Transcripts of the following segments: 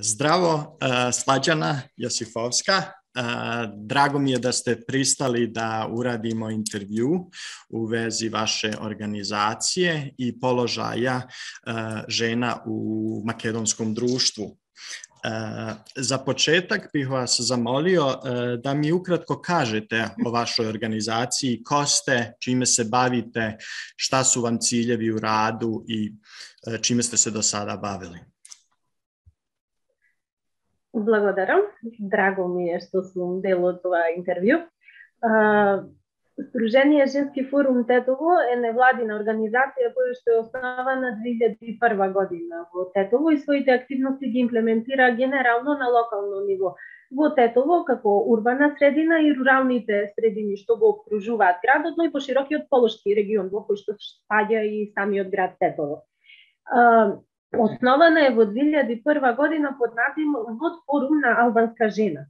Здраво, Slađana Josifovska. Drago mi je da ste pristali da uradimo intervju u vezi vaše organizacije i položaja žena u makedonskom društvu. Za početak bih vas zamolio da mi ukratko kažete o vašoj organizaciji, ko ste, čime se bavite, šta su vam ciljevi u radu i čime ste se do sada bavili. Благодарам. Драго ми е што сум дел од това интервју. Сдружение Женски форум Тетово е невладина организација која што е основана 2001 година во Тетово и своите активности ги имплементира генерално на локално ниво во Тетово како урбана средина и руралните средини што го окружуваат градот, но и поширокиот полошки регион во кој што спаѓа и самиот град Тетово. Основана е во 2001 година под називот Форум на албанска жена.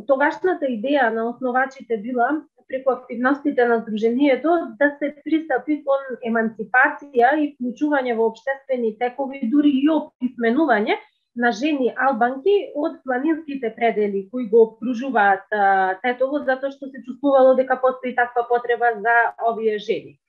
Тогашната идеја на основачите била преку активностите на Сдруженијето да се пристапи кон емансипација и вклучување во општествени текови, дури и описменување на жени албанки од планинските предели кои го окружуваат Тетово, затоа што се чувствувало дека постои таква потреба за овие жени.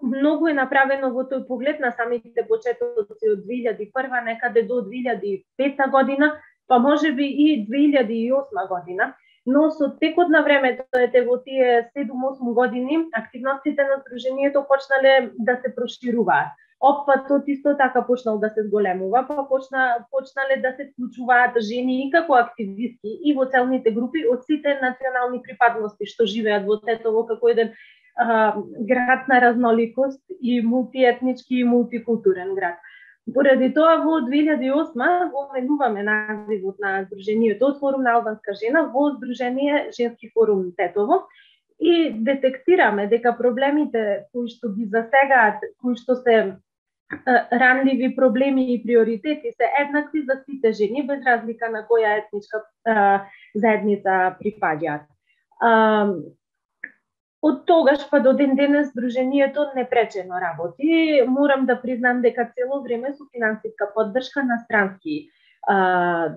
Многу е направено во тој поглед на самите почетоци од 2001 некаде до 2005 година, па можеби и 2008 година, но со текот на времето, во тие 7-8 години, активностите на Сдруженијето почнале да се прошируваат. Опфатот исто така почнал да се зголемува, па почнале да се вклучуваат жени и како активистки и во целните групи од сите национални припадности што живеат во Тетово како еден град на разноликост и мултиетнички и мултикултурен град. Поради тоа во 2008 го менуваме називот на Сдруженијето од Форум на албанска жена во Сдружение Женски форум Тетово и детектираме дека проблемите кои што ги засегаат, кои што се ранливи проблеми и приоритети се еднакви за сите жени без разлика на која етничка заедница припаѓаат. Од тогаш па до ден денес Сдруженијето непречено работи. Морам да признам дека цело време со финансиска поддршка на странски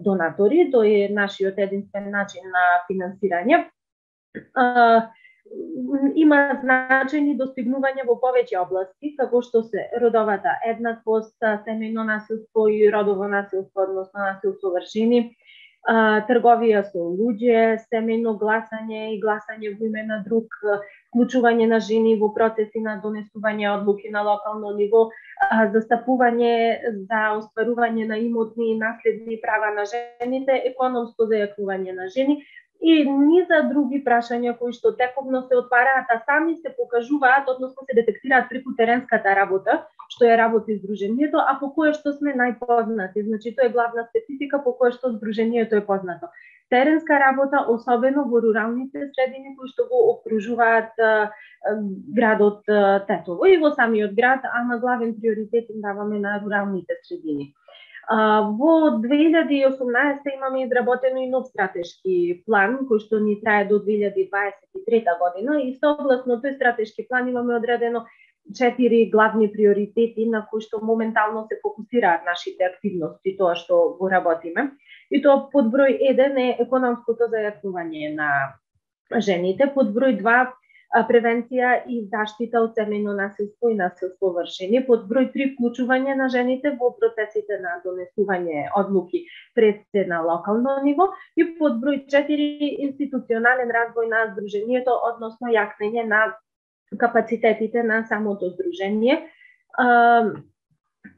донатори. Тој е нашиот единствен начин на финансирање. Има значајни достигнувања во повеќе области, како што се родовата еднаквост, семејно насилство и родово насилство, односно насилство врз жени, трговија со луѓе, семејно гласање и гласање во име на друг, вклучување на жени во процеси на донесување одлуки на локално ниво, застапување за остварување на имотни и наследни права на жените, економско зајакнување на жени и низа други прашања кои што тековно се отвараат, а сами се покажуваат, односно се детектираат преку теренската работа, што е работи Сдруженијето, а по кое што сме најпознати. Значи, тоа е главна специфика по која што Сдруженијето е познато. Теренска работа, особено во руралните средини кои што го окружуваат градот Тетово и во самиот град, ама главен приоритет им даваме на руралните средини. Во 2018 имаме изработено и нов стратешки план кој што ни трае до 2023 година и согласно тој стратешки план имаме одредено 4 главни приоритети на кои што моментално се фокусираат нашите активности, тоа што го работиме. И тоа под број 1 е економското зајакнување на жените, под број 2 превенција и заштита од семејно насилство и насилство врз жени, под број 3 вклучување на жените во процесите на донесување одлуки пред се на локално ниво и под број 4 институционален развој на Сдруженијето, односно јакнење на капацитетите на самото Сдружение.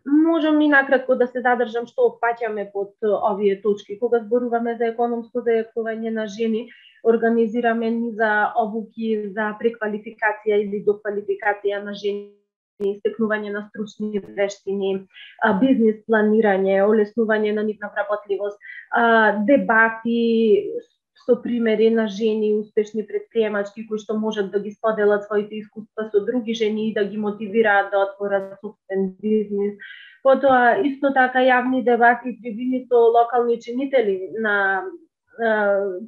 Можам и накратко да се задржам што опфаќаме под овие точки. Кога зборуваме за економско зајакнување на жени, организираме низа обуки за преквалификација или доквалификација на жени, истекнување на стручни вештини, бизнис планирање, олеснување на нивна вработливост, дебати со примери на жени успешни претприемачки кои што можат да ги споделат своите искуства со други жени и да ги мотивираат да отворат собствен бизнис. Потоа исто така јавни дебати и трибини со локални чинители на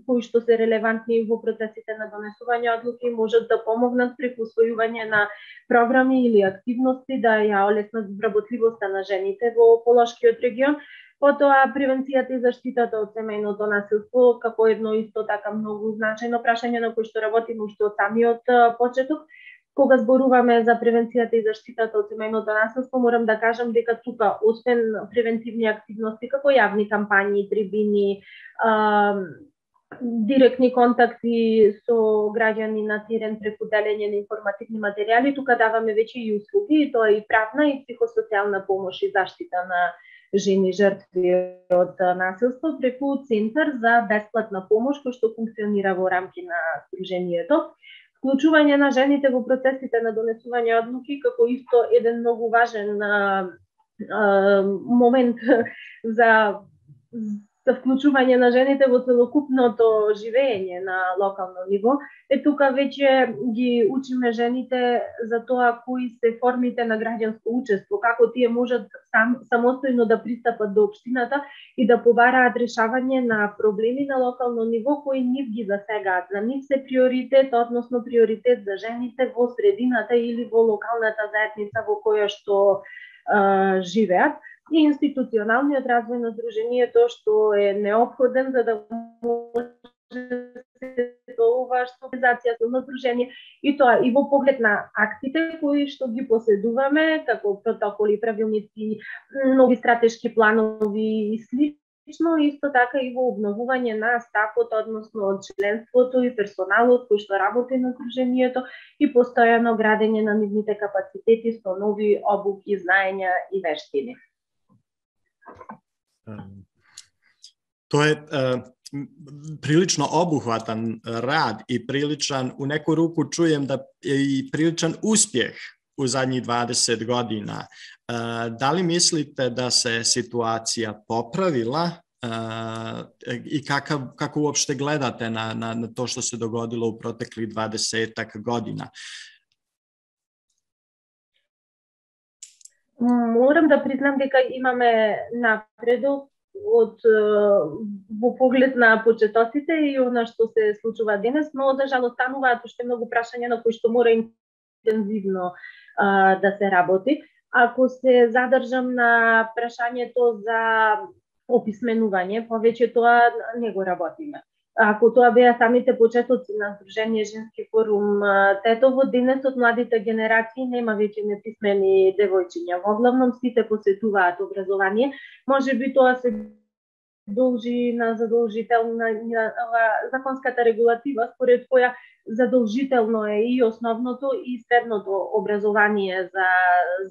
кои што се релевантни во процесите на донесување одлуки, можат да помогнат преку усвојување на програми или активности да ја олеснат вработливоста на жените во Полошкиот регион. Потоа превенцијата и заштитата од семејното насилство како едно исто така многу значајно прашање на кој што работиме уште од самиот почеток. Кога зборуваме за превенцијата и заштитата од семејното насилство, морам да кажам дека тука, освен превентивни активности како јавни кампањи, трибини, директни контакти со граѓани на терен преку делење на информативни материјали, тука даваме веќе и услуги, и тоа и правна и психосоцијална помош и заштита на жени жртви од насилство преку Центар за бесплатна помош кој што функционира во рамки на Сдруженијето. Вклучување на жените во процесите на донесување одлуки како исто еден многу важен момент за вклучување на жените во целокупното живење на локално ниво. Тука веќе ги учиме жените за тоа кои се формите на граѓанско учество, како тие можат самостојно да пристапат до општината и да побараат решавање на проблеми на локално ниво кои нив ги засегаат. За нив се приоритет, односно приоритет за жените во средината или во локалната заедница во која што живеат. И институционалниот развој на Сдруженијето што е неопходен за да може ова што организацијата на Сдружение и тоа и во поглед на актите кои што ги поседуваме како протоколи, правилници, нови стратешки планови и слично, исто така и во обновување на стафот, односно од членството и персоналот кој што работи на Сдруженијето и постојано градење на нивните капацитети со нови обуки, знаења и вештини. Тоа е прилично обухватан рад и приличан, у неку руку чуjem da je i priličan uspjeh u zadnjih 20 godina. Da li mislite da se situacija popravila i kako uopšte gledate na to što se dogodilo u proteklih 20 godina? Морам да признам дека имаме напредок во поглед на почетоците и она што се случува денес, но за жал остануваат уште многу прашања на кои што мора интензивно да се работи. Ако се задржам на прашањето за описменување, повеќе тоа не го работиме. Ако тоа беа самите почетоци на Сдружение Женски форум Тетово, денесот младите генерации нема веќе неписмени девојчиња. Во главном сите посетуваат образование. Може би тоа се должи на задолжителна законската регулатива, според која задолжително е и основното и средното образование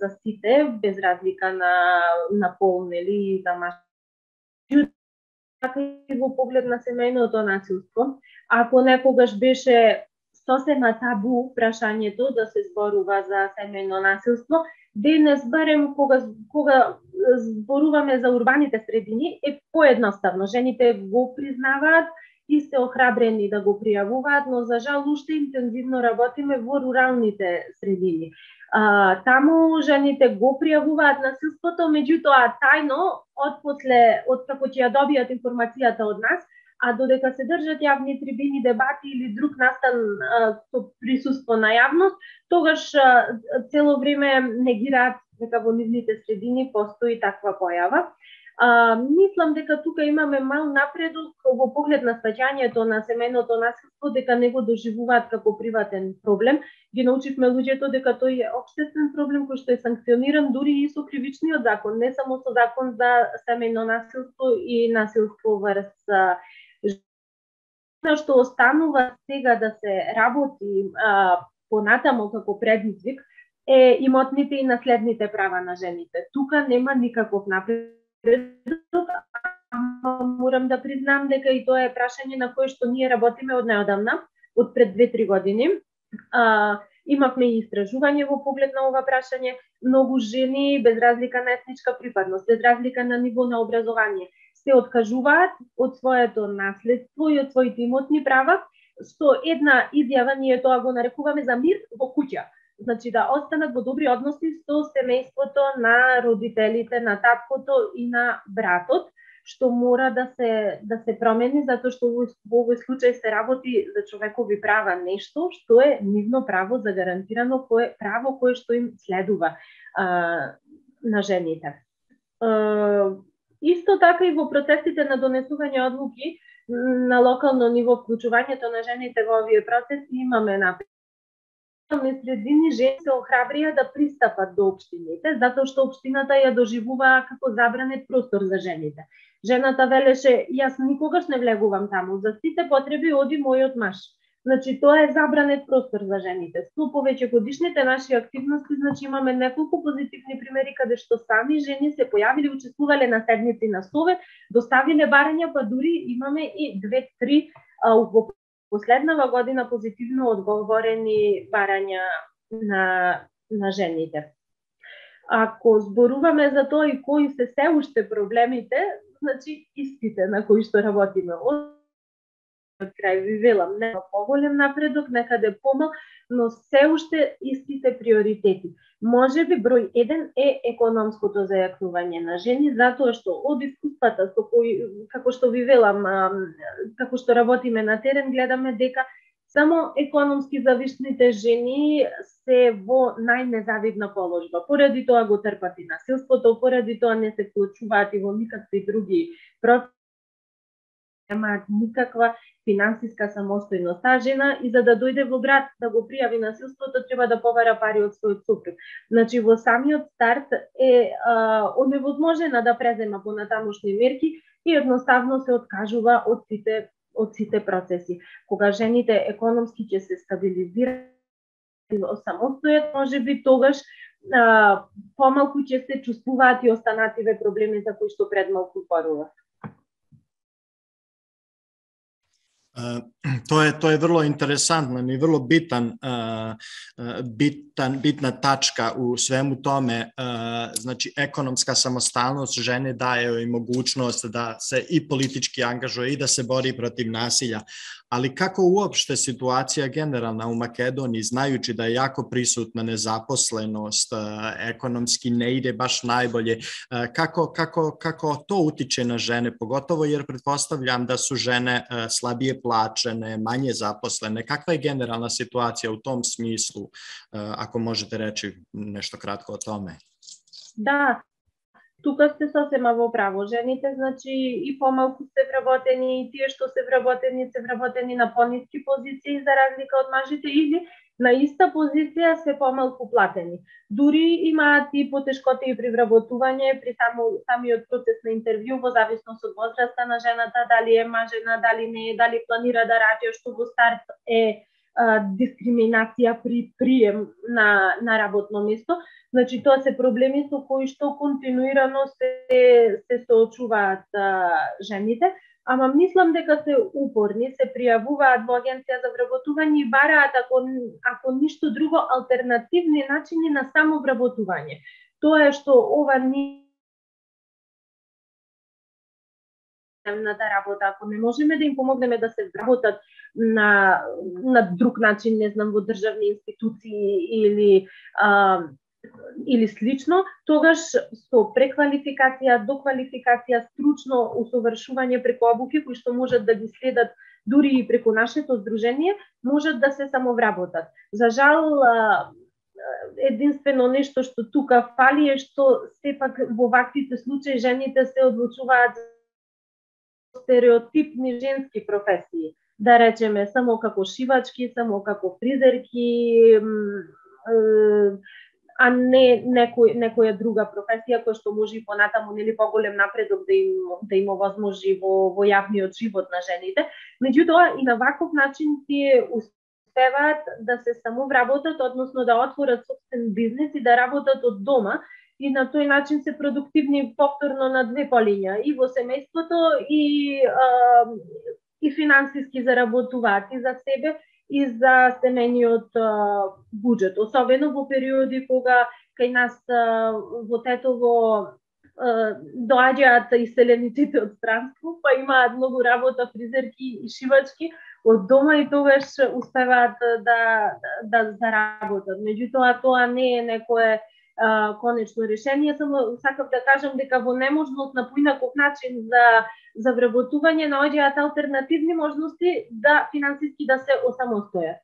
за сите, без разлика на пол, нели, за мажи. Така и во поглед на семејното насилство. Ако некогаш беше сосема табу прашањето да се зборува за семејно насилство, денес барем кога зборуваме за урбаните средини е поедноставно. Жените го признаваат и се охрабрени да го пријавуваат, но за жал уште интензивно работиме во руралните средини. Таму жените го пријавуваат насилството, меѓутоа тајно, од како ќе ја добијат информацијата од нас, а додека се држат јавни трибини, дебати или друг настан со присуство на јавност, тогаш цело време негираат дека во нивните средини постои таква појава. Мислам дека тука имаме мал напредок во поглед на сваќањето на семејното насилство, дека не го доживуваат како приватен проблем. Ги научивме луѓето дека тој е општествен проблем кој што е санкциониран дури и со кривичниот закон, не само со закон за семејно насилство и насилство врз што останува сега да се работи понатамо како предизвик е имотните и наследните права на жените. Тука нема никаков напредок. Морам да признам дека и тоа е прашање на кое што ние работиме од неодамна, од пред 2-3 години. Имавме и истражување во поглед на ова прашање. Многу жени, без разлика на етничка припадност, без разлика на ниво на образование, се откажуваат од своето наследство и од своите имотни права со една изјава, ние тоа го нарекуваме за мир во куќа. Значи да останат во добри односи со семејството на родителите, на таткото и на братот. што мора да се промени, затоа што во овој случај се работи за човекови права, нешто што е нивно право загарантирано, право кое што им следува на жените. Исто така и во процесите на донесување одлуки на локално ниво, вклучувањето на жените во овие процеси имаме напред. Средини жени се охрабрија да пристапат до општините, затоа што општината ја доживува како забранет простор за жените. Жената велеше, јас никогаш не влегувам таму, за сите потреби оди мојот маж. Значи, тоа е забранет простор за жените. Со повеќе годишните наши активности, значи имаме неколку позитивни примери каде што сами жени се појавиле, учествувале на седници на совет, доставиле барања, па дури имаме и 2-3 во последнава година позитивно одговорени барања на жените. Ако зборуваме за тоа и кои се уште проблемите, значи истите на кои што работиме. Од крај ви велам, нема поголем напредок, некаде помал, но се уште истите приоритети. Можеби број 1 е економското зајакнување на жени, затоа што од искуствата со кои, како што ви велам, како што работиме на терен, гледаме дека само економски зависните жени се во најнезавидна положба. Поради тоа го трпат и насилството, поради тоа не се вклучуваат и во никакви други процеси, немаат никаква финансиска самостојност. Таа жена и за да дојде во град да го пријави насилството треба да побара пари од својот супруг. Значи во самиот старт е оневозможена да презема понатамошни мерки и едноставно се откажува од сите процеси. Кога жените економски ќе се стабилизираат самостојат, можеби тогаш помалку ќе се чувствуваат и останативе проблеми за кои што пред малку зборував. Тоа е врло интересантно и врло битна тачка у свему томе. Значи, економска самосталност жени дае и могуćност да се и политички ангажuje и да се бори против насилja. Ali kako uopšte situacija generalna u Makedoniji, znajući da je jako prisutna nezaposlenost, ekonomski ne ide baš najbolje, kako to utiče na žene, pogotovo jer pretpostavljam da su žene slabije plaćene, manje zaposlene. Kakva je generalna situacija u tom smislu, ako možete reći nešto kratko o tome? Da, тука сте сосема во право. Жените, значи, и помалку се вработени, и тие што се вработени на пониски позиции за разлика од мажите, или на иста позиција се помалку платени. Дури имаат и потешкоти при вработување, при самиот процес на интервју, во зависност од возраста на жената, дали е мажена, дали не е, дали планира да раѓа, што во старт е дискриминација при прием на работно место. Значи, тоа се проблеми со кои што континуирано се соочуваат жените, ама мислам дека се упорни, се пријавуваат во агенција за вработување и бараат, ако ништо друго, алтернативни начини на самовработување. Тоа е што ова на работа, ако не можеме да им помогнеме да се вработат на друг начин, не знам, во државни институции или слично, тогаш со преквалификација, доквалификација, стручно усовршување преку обуки кои што можат да ги следат дури и преку нашето здружение, можат да се самовработат. За жал, единствено нешто што тука фали е што сепак во ваквите случаи жените се одлучуваат стереотипни женски професии. Да речеме, само како шивачки, само како фризерки, а не некоја друга професија која што може и понатаму нели поголем напредок да им овозможи во јавниот живот на жените. Меѓутоа и на ваков начин тие успеваат да се самовработат, односно да отворат собствен бизнис и да работат од дома и на тој начин се продуктивни повторно на две полиња, и во семејството и финансиски заработуваат и за себе и за семејниот буџет, особено во периоди кога кај нас во Тетово доаѓаат иселениците од странство, па имаат многу работа, фризерки и шивачки од дома и тогаш успеваат да заработат. Меѓутоа тоа не е некое конечно решение. Само сакав да кажам дека во неможност на поинаков начин за вработување наоѓаат алтернативни можности да финансиски да се осамостојат.